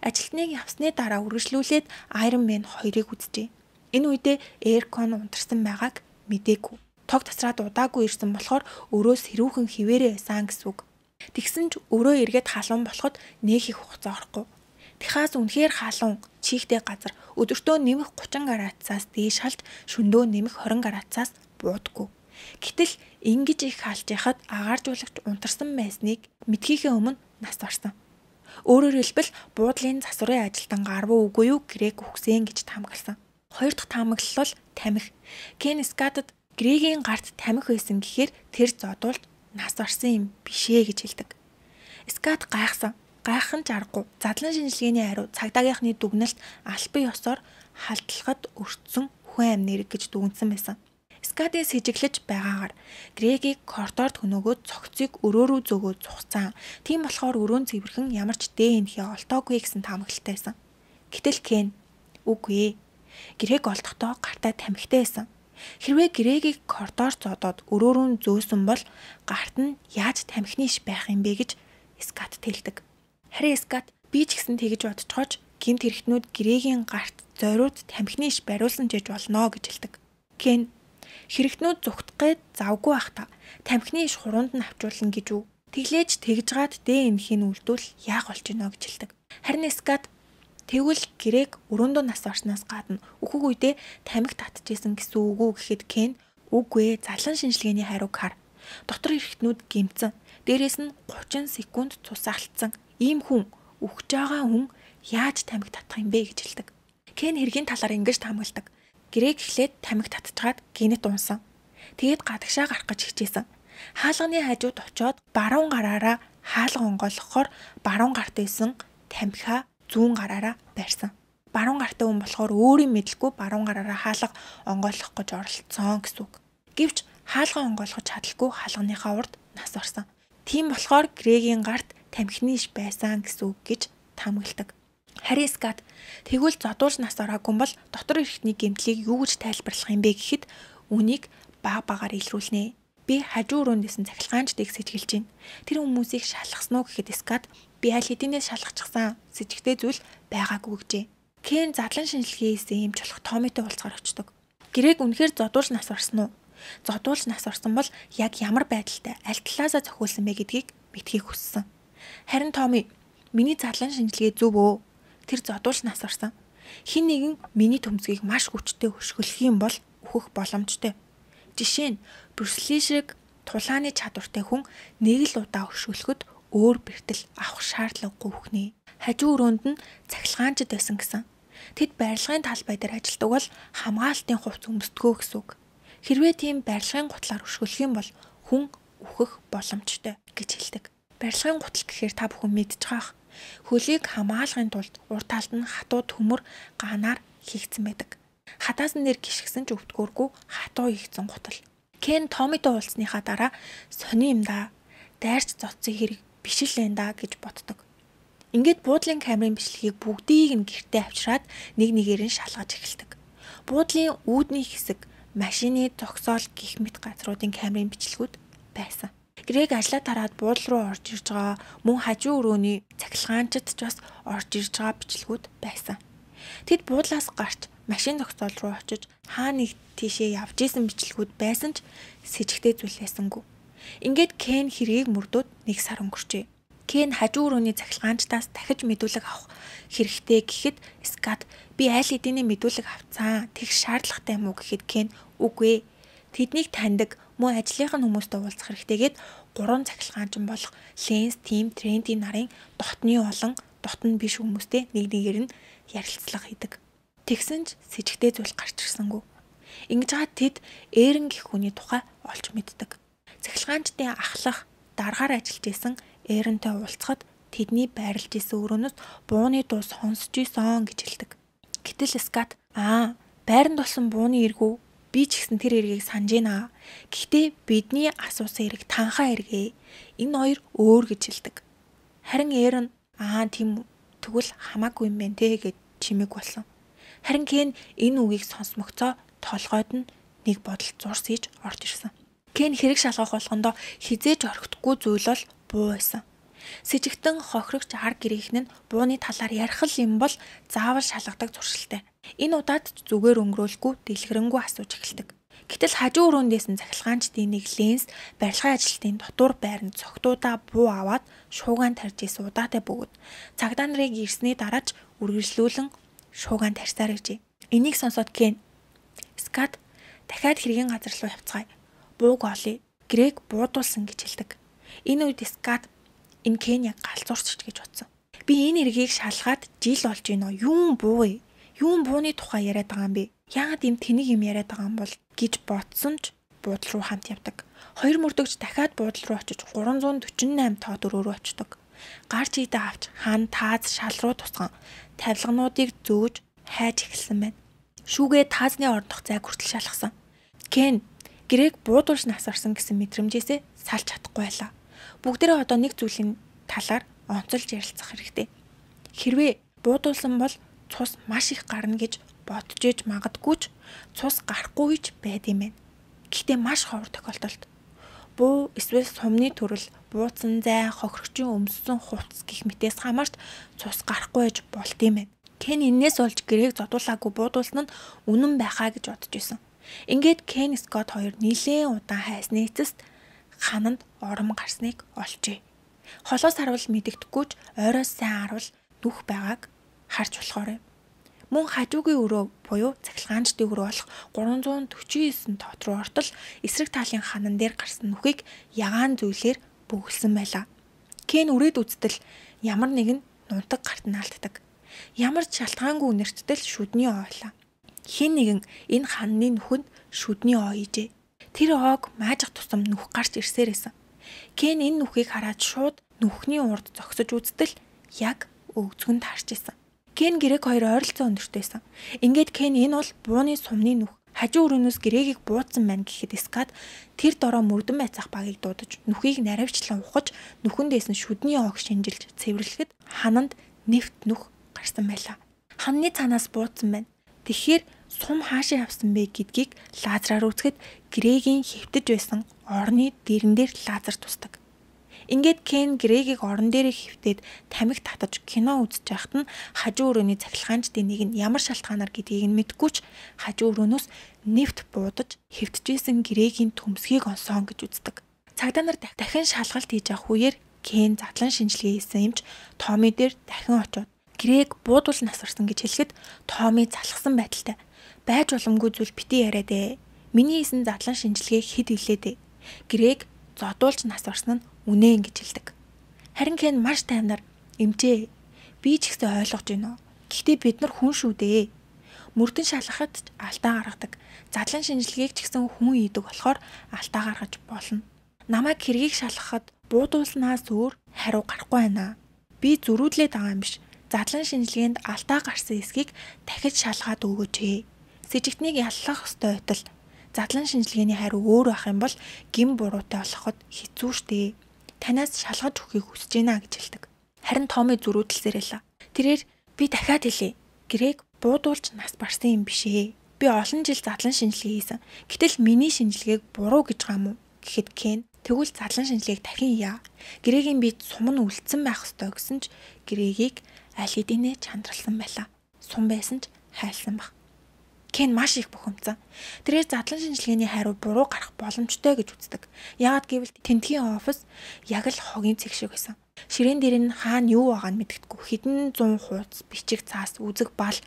Ажилтныг явсны дараа үргэлжлүүлээд Iron Man 2-ыг үзжээ. Энэ үедээ эркон унтарсан байгааг мэдээгүй. Тог тасраад удаагүй ирсэн болохоор өрөөс хэрүүхэн хിവэрэ байсан гэсэн үг. Тэгсэн ч өрөө эргээд халуун болоход нэг их хугацаа орохгүй. Техас үнэхээр халуун, чихтэй газар өдөртөө нэмэх 30 градусаас дээш халж шөнөдөө нэмэх 20 градусаас буудаггүй. Гэтэл ингэж их халж яхад агааржуулагч унтарсан байсныг мэдхийнхээ өмнө нас барсан. Өөрөөр хэлбэл буудлын засварын ажилтан гарвуу үгүй юу Грег үхсэн гэж таамагласан. Хоёр дахь таамаглал бол тамхи. Кен Скатад Грегийн гарт тамхи байсан гэхээр тэр зодуулт нас барсан юм бишээ гэж хэлдэг. Скат гайхсан. Гайхах нь аргагүй. Задлан шинжилгээний хариу цагдаагийнхны дүгнэлт албан ёсоор халдлахад өртсөн хүн амь нэрэг гэж дүгнсэн байсан. Скатын сэжиглэж байгаагаар Грегийг коридорт хөнөөгөө цогцыг өрөө рүү зөөгөө зугцсан. Тийм болохоор өрөөнд цэвэрхэн ямар ч дээ энхээ олтоогүй гэсэн таамаглалтай байсан. Гэтэл Кен үгүй ээ. Грег олдохдоо гартаа тамхитай байсан. Хэрвээ Грегийг коридорт зодоод өрөө рүү зөөсөн бол гарт нь яаж тамхины иш байх юм бэ гэж Скат тэлдэг. Харин Скат би ч гэсэн тэгэж бодцохооч гэмт хэрэгтнүүд Грегийн гарт зориуд тамхины иш бариулсан ч гэж болно гэж хэлдэг. Кен хэрэгтнүүд зүгтгээд завгүй байх та. Тамхины иш хуруунд нь авчруулна гэж үү? Тэглээж тэгжгаад дэ энхийн үлдвэл яах болж гинэ гэж хэлдэг. Харин Скат тэгвэл гэрээг өрөөндөө нас орсноос гадна өөхөг үедээ тамхи татчихсэн гэсэн үг үү гэхэд Кен үгүй ээ, задлан шинжилгээний хариуг хар. Дотор эрхтнүүд гэмцэн. Дээрээс нь 30 секунд цус алдсан. Ийм хүн үхэж байгаа хүн яаж тамхи татах юм бэ гэж хэлдэг. Кен хэргийн талаар ингэж таамагладаг. Гэрээг эхлээд тамхи татчихад гинэт унсан. Тэгээд гадагшаа гарах гэж хичээсэн. Хаалганы хажууд очиод баруун гараараа хаалга онгойлгохоор баруун гарт байсан тамхиа зүүн гараараа барьсан. Баруун гартай хүн болохоор өөрийн мэдлгүй баруун гараараа хаалга онгойлгох гэж оролцсон гэсэн үг. Гэвч хаалга онгойлгож чадалгүй хаалганыхаа урд нас орсон. Тийм болохоор Грегийн гарт тамхины иш байсан гэсэн үг гэж таамагладаг. Харин Скат тэгвэл зодуулж нас ороогүй бол дотор эрхтний гэмтлийг юу гэж тайлбарлах юм бэ гэхэд үнийг багаар илрүүлнэ. Би хажуу өрөөндөөсөн цахилгаанчдыг сэжгэлж байна. Тэр хүмүүсийг шалгасан уу гэхэд Скат би аль хэдийнээс шалгачихсан сэжигтэй зүйл байгаагүй гэжээ. Кен задлан шинжилгээээс эмч болох Томитой уулзгаар очдог. Грег үнэхээр зодуулж нас орсон уу? Зодуулж нас орсон бол яг ямар байдалтай аль талаасаа зохиулсан бэ гэдгийг мэдхийг хүссэн. Харин Томи, миний задлан шинжилгээ зөв өө? Тэр зодуулж нас орсон. Хин нэгэн миний төмцгийг маш хүчтэй хөшгөлөх юм бол өөхөх боломжтой. Жишээ нь Брюс Ли шиг тулааны чадвартай хүн нэг л удаа хөшгөлөхөд өөр бэртэл авах шаардлагагүй хөхнэ. Хажуу өрөөнд нь цахилгаанчд байсан гэсэн. Тэд барилгын талбай дээр ажилладаг бол хамгаалтын хувцас өмсдгөө гэсэн үг. Хэрвээ тийм барилгын гутлаар хөшгөлөх юм бол хүн үхэх боломжтой гэж хэлдэг. Барилгын гутал гэхээр та бүхэн мэдж байгаах. Хөлийг хамгаалахын тулд урт талд нь хатуу төмөр ганаар хийгдсэн байдаг. Хатаасан нэр гიშгсэн ч өвдгөөргүй хатуу хийгдсэн гутал. Кен Томитой уулзсныхаа дараа сони юм да. Дайрч зодсон хэрэг биш л энэ да гэж боддог. Ингээд буудлын камерын бичлэгийг бүгдийг нь гэртээ авчираад нэг нэгээр нь шалгаж эхэлдэг. Буудлын үүдний хэсэг, машины зогсоол гэх мэт газруудын камерын бичлэгүүд байсан. Грег ажлаа тараад буудлын руу орж ирж байгаа мөн хажуу өрөөний цахилгаанчид ч бас орж ирж байгаа бичлэгүүд байсан. Тэд буудлаас гарч машин зогсоол руу очиж хаа нэг тийшээ явж исэн бичлэгүүд байсан ч сэжигтэй зүйл байсангүй. Ингээд Кен хэргийг мөрдөөд 1 сар өнгөрчээ. Кен хажуу өрөөний цахилгаанчдаас дахиж мэдүүлэг авах хэрэгтэй гэхэд Скат би аль хэдийн мэдүүлэг авцсан. Тэгш шаардлагатай юм уу гэхэд Кен үгүй ээ. Тэднийг таньдаг мөн ажлынхаа хүмүүстэй уулзах хэрэгтэйгээд 3 цахилгаанчин болох Ленс, Тим, Тренти нарын дотны олон дотн биш хүмүүстэй нэг нэгээр нь ярилцлага хийдэг. Тэгсэн ч сэжигтэй зүйл гарч ирсэнгүй. Ингэж хаад тэд Эрен гэх хүний тухай олж мэддэг. Цахилгаанчдын ахлах дараагаар ажиллаж исэн Эрентэй уулзахад тэдний байрлаж исэн өрөөнөөс бууны дуу сонсож исэн гэж хэлдэг. Гэтэл Скат байранд болсон бууны эргүү би ч гэсэн тэр эргийг санаж байна. Гэхдээ бидний асуусан эрэг танхаа эргээ. Энэ хоёр өөр гэж хэлдэг. Харин Эрен тийм тэгвэл хамаагүй юм байна те гэж чимэг болсон. Харин Кен энэ үгийг сонсмогцоо толгойд нь нэг бодол зурс хийж орж ирсэн. Кен хэрэг шалгах болгондоо хизээж орхихгүй зүйл бол буу байсан. Сэжигтэн хохирогч ар гэрийнхэн нь бууны талаар ярих юм бол заавал шалгадаг зуршилтай. Энэ удаад зүгээр өнгөрөөлгүй дэлгэрэнгүй асууж эхэлдэг. Гэтэл хажуу өрөөндөөс нь цахилгаанчдын нэг Ленс барилгын ажилтны дотор байранд цогтуудаа буу аваад шуугаан тарьж исэн удаатай бөгөөд цагдаа нарыг ирсний дараач үргэлжлүүлэн шуугаан тарьсаар иржээ. Энийг сонсоод Кен Скат дахиад хэргийн газар руу явцгаая. Бууг олъё. Грег буудуулсан гэж хэлдэг. Энэ үед Скат энэ Кен яг галзуурч гэж бодсон. Би энэ эргийг шалгаад жил болж байна. Юун буу вэ? Юун бууны тухай яриад байгаа юм бэ? Яагаад юм тэнийг юм яриад байгаа юм бол гэж бодсон ч буудлын руу хамт явдаг. Хоёр мөрдөгч дахиад буудлын руу очиж 348 тоо дөрөв рүү очдог. Гарч идэ авч хан тааз шал руу тусган тавилгануудыг зөөж хайж эхэлсэн байна. Шүүгээ таазны ордох зайг хүртэл шалгасан. Кен Грег буудуулж нас орсон гэсэн мэдрэмжээсээ салж чадахгүй байлаа. Бүгдээрээ одоо нэг зүйлийн талаар онцолж ярилцах хэрэгтэй. Хэрвээ буудуулсан бол цус маш их гарна гэж бодож иж магадгүй ч цус гарахгүй ч байд юм байна. Гэхдээ маш ховор тохиолдолд буу эсвэл сумны төрөл, бууцсан зай, хохирогчийн өмссөн хувцас гэх мэтээс хамаарч цус гарахгүй гэж болд юм байна. Кен энээс болж Грег зодуулаагүй буудуулсан нь үнэн байхаа гэж бодож байсан. Ингээд Кен Скот хоёр нилээн удаан хайсны эцэст хананд ором гарсныг олжээ. Холоос харуул мэдэгдэхгүй ч ойроос сайн харуул нүх байгааг харж болохоор юм. Мөн хажуугийн өрөө буюу цахилгаанчдын өрөө болох 349 тоот руу ортол эсрэг талын ханан дээр гарсан нүхийг ягаан зүйлээр бөглсөн байлаа. Кен үрээд үзтэл ямар нэгэн нунтаг гарт нь алддаг. Ямар ч шалтгаангүй үнэрттэл шүдний ойлаа. Хин нэгэн энэ ханны нүхэнд шүдний оо хийжээ. Тэр оог маажих тусам нүх гарч ирсээр байсан. Кен энэ нүхийг хараад шууд нүхний урд зогсож үзтэл яг өгзгөнд харж исэн. Кен гэрэг хоёр ойролцоо өндөртэйсэн. Ингээд Кен энэ бол бууны сумны нүх. Хажуу өрөөнөөс гэрэгийг буудсан байна гэхэд Скат тэр дороо мөрдөн байцаах багийг дуудаж нүхийг наривчлан ухаж нүхэндээс нь шүдний оог шинжилж цэвэрлэхэд хананд нэвт нүх гарсан байлаа. Ханны цаанаас буудсан байна. Тэгэхээр сум хаашаа явсан бэ гэдгийг лазераар үзэхэд гэрэгийн хэвтэж байсан орны дэрэн дээр лазер тусдаг. Ингээд Кен гэрэгийг орон дээрээ хэвтээд тамхи татаж кино үзэж байхад нь хажуу өрөөний цахилгаанчдын нэг нь ямар шалтгаанаар гэдгийг нь мэдгүй ч хажуу өрөөнөөс нэвт буудаж хэвтжсэн гэрэгийн төмсгийг онсон гэж үздэг. Цагдаа нар дахин шалгалт хийж авах үеэр Кен задлан шинжилгээ хийсэн юмч Томми дээр дахин очиод гэрэг буудуул насварсан гэж хэлэхэд Томми залхсан байдалтай. Байж боломгүй зүйл бити яриад ээ. Миний хийсэн задлан шинжилгээ хэд илээд ээ. Гэрэг зодуулж насварсан нь үнэн гэж хэлдэг. Харин Кен маш тайвнаар эмчээ. Би ч ихсэ ойлгож байна. Гэхдээ бид нар хүн шүү дээ. Мөрдөн шалгахад ч алдаа гаргадаг. Задлан шинжилгээг ч гэсэн хүн ийдэг болохоор алдаа гаргаж болно. Намайг хэргийг шалгахад буудуулснаас өөр хариу гарахгүй байна. Би зөрүүдлээд байгаа юм биш. Задлан шинжилгээнд алдаа гарсан эсхийг дахиж шалгаад өгөөч ээ. Сэжигтнийг яллах ёстой байтал задлан шинжилгээний хариу өөр байх юм бол гин буруутай болоход хэцүү шттэ. Танаас шалгаж өгөхийг хүсэж байна гэж хэлдэг. Харин Томми зөрүүдэлсээр байлаа. Тэрээр би дахиад хэлье. Гэрэг буудуулж нас барсан юм биш ээ. Би олон жил задлан шинжилгээ хийсэн. Гэтэл миний шинжилгээг буруу гэж байгаа юм уу гэхэд Кен тэгвэл задлан шинжилгээг дахин яа. Гэрэгийн би сум нь үлдсэн байх ёстой гэсэн ч гэрэгийг аль хэдийнэ чандралсан байлаа. Сум байсан ч хайлсан баг. Кен маш их бухимдсан. Тэрээр задлан шинжилгээний хариу буруу гарах боломжтой гэж үздэг. Яагад гэвэл тентгийн офис яг л хогийн цэг шиг байсан. Ширээн дээр нь хаана юу байгааг нь мэддэггүй. Хэдэн 100 хуудас, бичиг цаас, үзэг бал,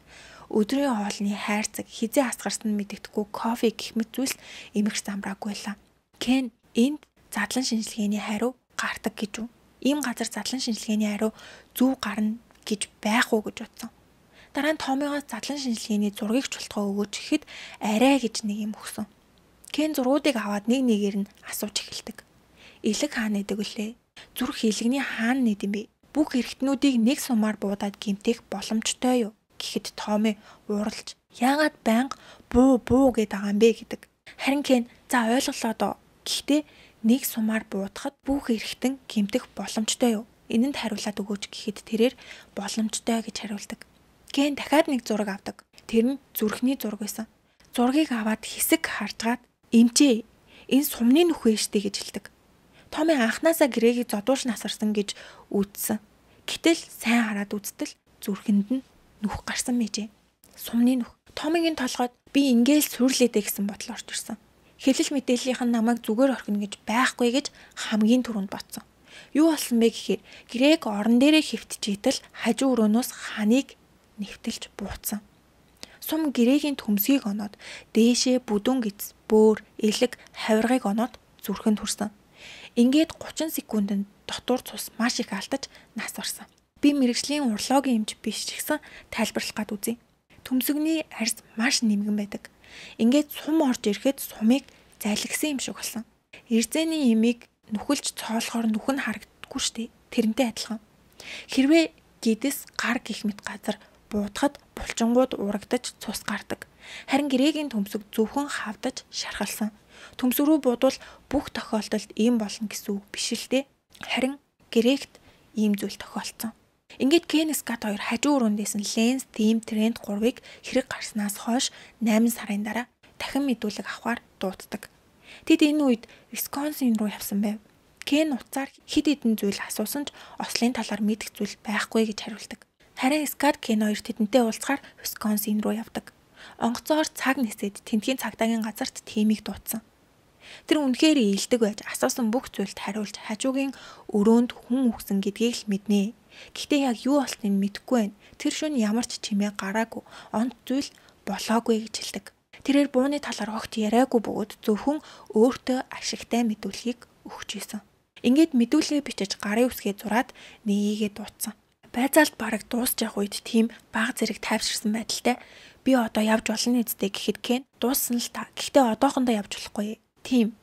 өдрийн хоолны хайрцаг, хизээ асгарсан нь мэддэггүй кофе гэх мэт зүйлс эмх замбраагүй байлаа. Кен энд задлан шинжилгээний хариу гардаг гэж үү? Ийм газар задлан шинжилгээний хариу зөв гарна гэж байх уу гэж бодсон. Дараа нь Томмигоос задлан шинжилгээний зургийг чултгоо өгөөч гэхэд арай гэж нэг юм өгсөн. Кен зургуудыг аваад нэг нэгээр нь асууж эхэлдэг. Илэг хаана нэдэг вүлээ? Зүрх илэгний хаана нэд юм бэ? Бүх эргэтнүүдийг нэг сумаар буудаад гимтэх боломжтой юу? Гэхэд Томми ууралж яагаад байнга буу гээд байгаа юм бэ гэдэг. Харин Кен за ойлголоо доо. Гэхдээ нэг сумаар буудахад бүх эргэтэн гимтэх боломжтой юу? Энэнд хариулаад өгөөч гэхэд тэрээр боломжтой гэж хариулдаг. Кен дахиад нэг зураг авдаг. Тэр нь зүрхний зураг байсан. Зургийг аваад хэсэг харжгаад эмчээ энэ сумны нүх вэ штэ гэж хэлдэг. Томми анханасаа гэрэгийг зодуулж насарсан гэж үзсэн. Гэтэл сайн хараад үзтэл зүрхэнд нь нүх гарсан мэжээ. Сумны нүх. Томмигийн толгойд би ингээл сүрлээдэ гэсэн бодол орж ирсэн. Хэлэл мэдээллийнх нь намайг зүгээр орхино гэж байхгүй гэж хамгийн түрүүнд бодсон. Юу болсон бэ гэхээр гэрэг орон дээрээ хэвтжийтэл хажуу өрөөнөөс ханыг нэвтэлж буутсан. Сум гэрэгийн төмсгийг оноод дээшээ бүдүүн гиз, бөөр, элэг, хавиргыг оноод зүрхэнд хүрсэн. Ингээд 30 секундэд дотор цус маш их алдаж нас орсон. Би мэрэгжлийн урологийн эмч биш ч гэсэн тайлбарлах гад үзье. Төмсгний арьс маш нэмгэн байдаг. Ингээд сум орж ирэхэд сумыг зайлгсан юм шиг болсон. Эрзэний эмийг нүхэлж цоолохоор нүх нь харагддаггүй штэ. Тэрнтэй адилхан. Хэрвээ гидэс гар гих мэт газар буудахад булчингууд урагдаж цус гардаг. Харин гэрэгийн төмсөг зөвхөн хавдаж шархалсан. Төмсөг рүү буудвал бүх тохиолдолд ийм болно гэсэн үг биш л дээ. Харин гэрээгт ийм зүйл тохиолдсон. Ингээд Кен Скат хоёр хажуу өрөөндөөс нь Ленс Тим Тренд 3-ыг хэрэг гарснаас хойш 8 сарын дараа дахин мэдүүлэг авахар дууддаг. Тэд энэ үед Висконсин руу явсан байв. Кен уцаар хэд хэдэн зүйл асуусан ч ослын талаар мэдэх зүйл байхгүй гэж хариулдаг. Харин Скат Кен хоёр тэдэнтэй уулзахаар Висконсин руу явдаг. Онгоцоор цаг нисээд тентгийн цагдаагийн газарт Тимийг дуудсан. Тэр үнэхээр ийдэг байж асуусан бүх зүйлд хариулж хажуугийн өрөөнд хүн үхсэн гэдгийг л мэднэ. Гэхдээ яг юу болсныг мэдэхгүй байна. Тэр шөнө ямар ч чимээ гараагүй, онц зүйл болоогүй гэж хэлдэг. Тэрээр бууны талаар огт яриагүй бөгөөд зөвхөн өөртөө ашигтай мэдүүлгийг өгч ийсэн. Ингээд мэдүүлгээ бичиж гарын үсгээ зураад нээгээ дуудсан. Байцаалт бараг дуусчих үед тийм баг зэрэг тайвширсан байдалтай би одоо явж болно үсттэй гэхэд Кен дууссан л та. Гэхдээ одоохондоо явж болохгүй. Тийм.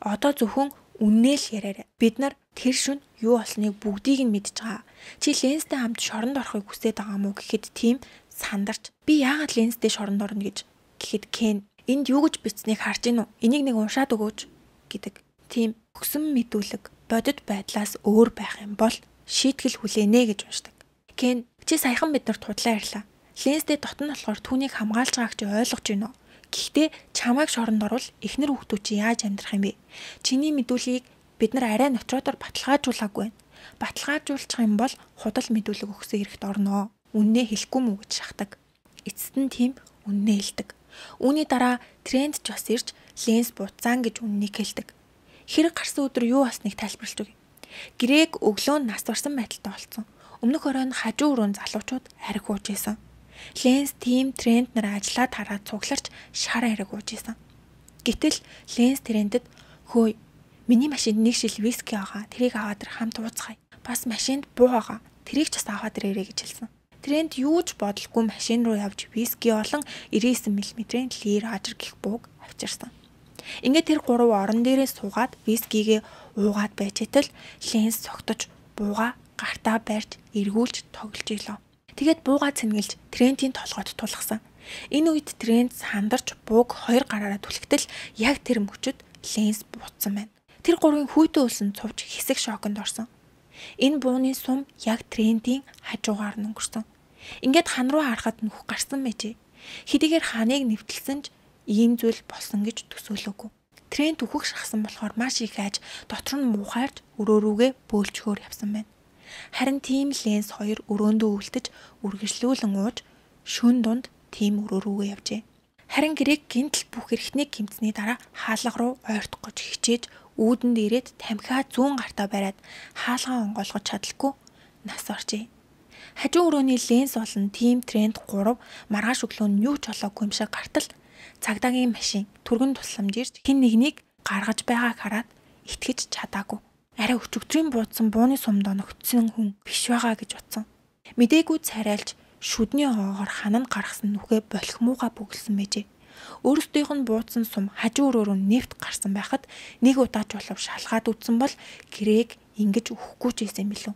Одоо зөвхөн үннээ л яриарай. Бид нар тэр шөнө юу болсныг бүгдийг нь мэдж байгаа. Чи Ленстэй хамт шоронд орохыг хүсэж байгаа мó гэхэд тийм сандарч би яагаад Ленстэй шоронд орно гэж гэхэд Кен энд юу гэж бичснийг харж гин үү? Энийг нэг уншаад өгөөч гэдэг. Тийм өгсөн мэдүүлэг бодит байдлаас өөр байх юм бол шийтгэл хүлээнэ гэж уншдаг. Кен чи саяхан биднэрт худлаа ярьлаа. Ленстэй дотн болохоор түүнийг хамгаалж байгааг чи ойлгож байна уу? Гэхдээ чамайг шоронд орвол эхнэр хүүхдүүд чи яаж амьдрах юм бэ? Чиний мэдүүлгийг бид нар арай нотродоор баталгаажуулаагүй байна. Баталгаажуулчих юм бол худал мэдүүлэг өгсөн хэрэгт орноо. Үннээ хэлэхгүй мүү гэж шахдаг. Эцэст нь тийм үннээ хэлдэг. Үүний дараа Трент ч бас ирж Ленс буцаан гэж үннийг хэлдэг. Хэрэг гарсан өдөр юу болсныг тайлбарлаж өгье. Грэг өглөө нас барсан байдалтай болсон. Өмнөх оройн хажуу өрөөнд залуучууд ариг ууж исэн. Ленс тийм Трент нар ажиллаад хараад цугларч шар ариг ууж исэн. Гэтэл Ленс Трентэд хөөе миний машинд нэг шил виски байгаа. Тэрийг аваад ир хамт ууцгаая. Бас машинд буу байгаа. Тэрийг ч бас аваад ирээрэй гэж хэлсэн. Трент юу ч бодолгүй машин руу явж виски олон 99 мм-ийн лир ажир гих бууг авчирсан. Ингээд тэр гурав орон дээрээ суугаад вискигээ уугаад байжэтэл Ленс цогтож бууга гартаа барьж эргүүлж тоглож илоо. Тэгээд бууга цэнгэлж Трентийн толгойд тулгсан. Энэ үед Трент сандарч бууг хоёр гараараа түлхтэл яг тэр мөчөд Ленс буутсан байна. Тэр гурвын хүйтэн үлсэн цувж хэсэг шоконд орсон. Энэ бууны сум яг Трентийн хажуугаар нь өнгөрсөн. Ингээд хан руу харахад нүх гарсан мэжээ. Хэдийгээр ханыг нэвтэлсэн ч ийм зүйл болсон гэж төсөөлөөгүй. Трент үхэх шахсан болохоор маш их айж дотор нь муухайрч өрөөрүүгээ бөөлчгөөр явсан байна. Харин тийм Ленс хоёр өрөөндөө үлдэж үргэлжлүүлэн ууж шөн дунд тийм өрөөрүүгээ явжээ. Харин Грэг гинтл бүх эрхтнийг гимтсний дараа хаалга руу ойртох гэж хичээж үүдэнд ирээд тамхиа зүүн гартаа бариад хаалгаа онгойлгож чадалгүй нас оржээ. Хажуу өрөөний Ленс болон тим Трент 3 маргааш өглөө нь юу ч олоогүй юм шиг гартал цагдаагийн машин түргэн тусламж ирж хин нэгнийг гаргаж байгааг хараад итгэж чадаагүй. Арай өчигдрийн буудсан бууны сумд оногдсон хүн биш байгаа гэж утсан. Мдээгүй царайлж шүдний хоогоор хананд гаргасан нүхээ болохмууга бүгэлсэн мэжээ. Өөрсдийнх нь буудсан сум хажуу өрөөрөө нефт гарсан байхад нэг удаач болов шалгаад үтсэн бол Грэг ингэж өхгүй ч байсан билүү.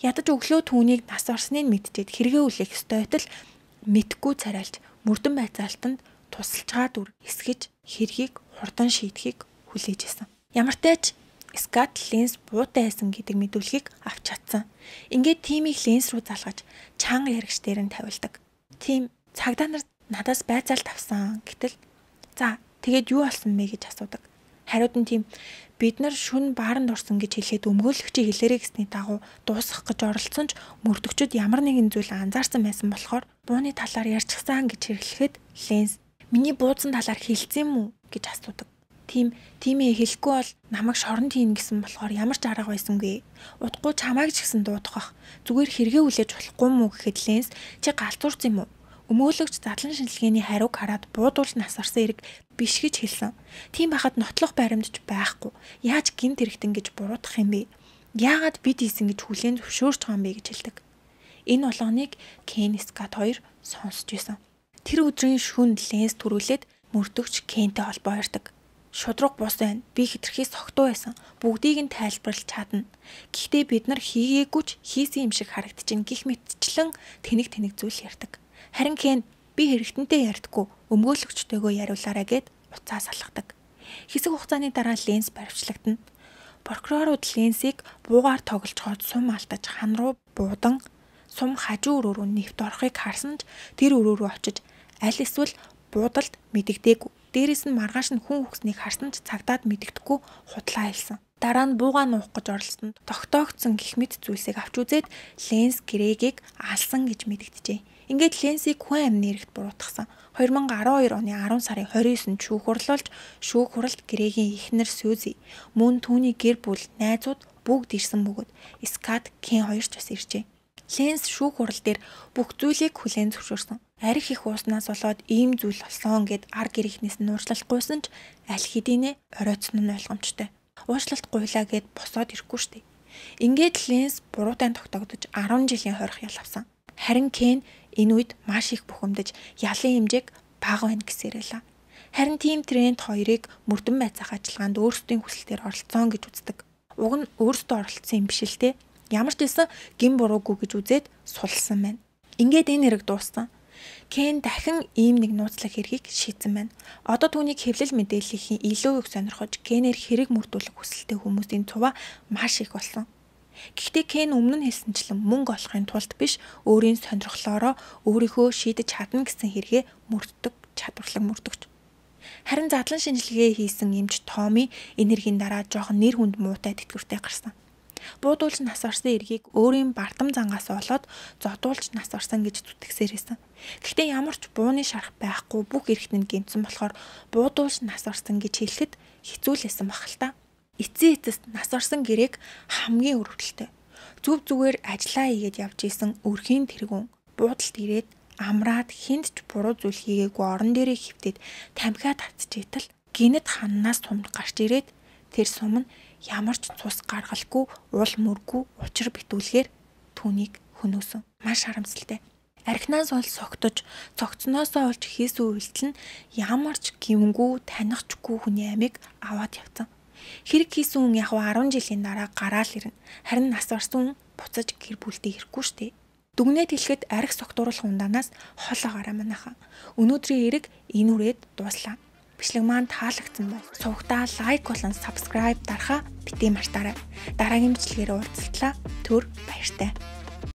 Ядаж өглөө түүнийг нас орсныг мэдчихэд хэрэгээ үлээх ёстой байтал мэдхгүй царайлж мөрдөн байцаалтанд тусалчгаад үр эсгэж хэргийг хурдан шийдэхийг хүлээж исэн. Ямартай ч Скат Ленс буутай байсан гэдэг мэдүүлгийг авч чадсан. Ингээд тимийг Ленс руу залгаж чанга яригч дээр нь тавилдаг. Тим цагдаа нар надаас байцаалт авсан гэтэл за тэгээд юу болсон бэ гэж асуудаг. Хариуд нь тийм бид нар шүн бааранд орсон гэж хэлээд өмгөөлөгчийн хэлээрэй гэсний дагуу дуусгах гэж оролцсон ч мөрдөгчд ямар нэгэн зүйл анзаарсан байсан болохоор бууны талаар ярьчихсан гэж хэрэглэхэд Ленс миний буудсан талаар хэлсэн юм уу гэж асуудаг. Тимээ хэлэхгүй бол намайг шоронд хийн гэсэн болохоор ямар ч арга байсангүй. Удахгүй чамайг ч гэсэн дуудах. Зүгээр хэрэгээ хүлээж болохгүй мүү гэхэд Ленс чи галзуурц юм уу? Өмөөлөгч задлан шинжилгээний хариуг хараад буудуулж нас орсон эрэг биш гэж хэлсэн. Тийм байхад нотлох баримтч байхгүй. Яаж гинт хэрэгтэн гэж буруутгах юм бэ? Яагаад бид ийсэн гэж хүлээн зөвшөөрч байгаа юм бэ гэж хэлдэг. Энэ болгоныг Кен Скат 2 сонсч байсан. Тэр өдрийн шөнө Ленс төрүүлээд мөрдөгч Кентэй холбоо ярьдаг. Шудраг бус байна. Би хитрхий согтуу байсан. Бүгдийг нь тайлбарлаж чадна. Гэхдээ бид нар хийгээгүй ч хийсэн юм шиг харагдчихээн гих мэтчлэн тэнэг зүйл ярьдаг. Харин Кен би хэрэгтэнтэй ярьдаггүй. Өмгөөлөгчтэйгөө яриулаарай гэд уцаа салгадаг. Хэсэг хугацааны дараа Ленс баривчлагдана. Прокурорууд Ленсийг буугаар тоглож хоод сум алдаж хан руу буудан сум хажуу өрөө рүү нэвт орохыг харсан ч тэр өрөө рүү очиж аль эсвэл буудалд мэдэгдээгүй. Дээрээс нь маргааш нь хүн үхснийг харсан ч цагдаад мэдэгдэхгүй худлаа хэлсэн. Дараа нь буугаа нуух гэж оролцсонд тогтоогдсон гэх мэт зүйлсийг авч үзээд Ленс Грегийг алсан гэж мэдэгджээ. Ингээд Ленсийг хүн амны эрэгт буруутгасан. 2012 оны 10 сарын 29-нд шүүх хурлуулж шүүх хуралд Грегийн эхнэр Сьюзи мөн түүний гэр бүл, найзууд бүгд ирсэн бөгөөд Скат, Кен хоёр ч бас иржээ. Ленс шүүх хурал дээр бүх зүйлийг хүлээн зөвшөөрсөн. Арх их ууснаас болоод ийм зүйл болсон гэд ар гэрийнхнээс нь уучлалтгүйсэн ч аль хэдийнэ оройтсон нь ойлгомжтой. Уучлалт гуйлаа гэд босоод ирэхгүй штеп. Ингээд Ленс буруутай тогтогдож 10 жилийн хорих ял авсан. Харин Кен энэ үед маш их бухимдаж ялын хэмжээг бага байна гэсээрэлээ. Харин тим тренд хоёрыг мөрдөн байцаах ажиллагаанд өөрсдийн хүсэлтээр оролцсон гэж үздэг. Уг нь өөрсдөө оролцсон юм биш л те. Ямар ч байсан гин буруугүй гэж үзээд сулсан байна. Ингээд энэ хэрэг дууссан. Кен дахин ийм нэг нууцлах хэргийг шийдсэн байна. Одоо түүнийг хэвлэл мэдээллийн илүү их сонирхож Кенээр хэрэг мөрдүүлэх хүсэлтэй хүмүүсийн цуваа маш их болсон. Гэхдээ Кен өмнө нь хэлсэнчлэн мөнгө олохын тулд биш, өөрийн сонирхлоороо өөрийнхөө шийдэж чадна гэсэн хэрэгээ мөрддөг чадварлаг мөрдөгч. Харин задлан шинжилгээ хийсэн эмч Томи энэ хэргийн дараа жоохон нэр хүнд муутай тэтгэвртэй гарсан. Буудуулж нас орсон эргийг өөрийн бардам зангаас олоод зодуулж нас орсон гэж зүтгэсээр байсан. Гэхдээ ямар ч бууны шарах байхгүй бүх эргэтэн гэмтсэн болохоор буудуулж нас орсон гэж хэлэхэд хэцүүлсэн баг л та. Эцсийн эцэст нас орсон гэрээг хамгийн өрөвдөлтэй. Зүв зүгээр ажиллаа хийгээд явж исэн өрхийн тэргүүн буудалд ирээд амраад хинт ч буруу зүйл хийгээгүй орон дээрээ хөвтөд тамхиа татчихэтэл гинэт ханнаас сум гарч ирээд тэр сум нь ямар ч цус гаргалгүй уул мөргүй учир битүүлгээр түүнийг хөнөөсөн. Маш харамсалтай. Архинаас бол согтож, цогцноосоо олж хийсэн үйлдэл нь ямар ч гимгүү танихчгүй хүний амийг аваад явцсан. Хэрэг хийсэн хүн яг 10 жилийн дараа гараал ирнэ. Харин нас орсон хүн буцаж гэр бүлдээ ирэхгүй штэ. Дүгнээд хэлэхэд арх согтууруулах ундаанаас хол агараа манайхан. Өнөөдрийн хэрэг энэ үрээд дууслаа. Бичлэг маань таалагдсан бол сувгтаа лайк болон subscribe дарахаа битгий мартаарай. Дараагийн бичлэгээр уулзтлаа. Түр баяртай.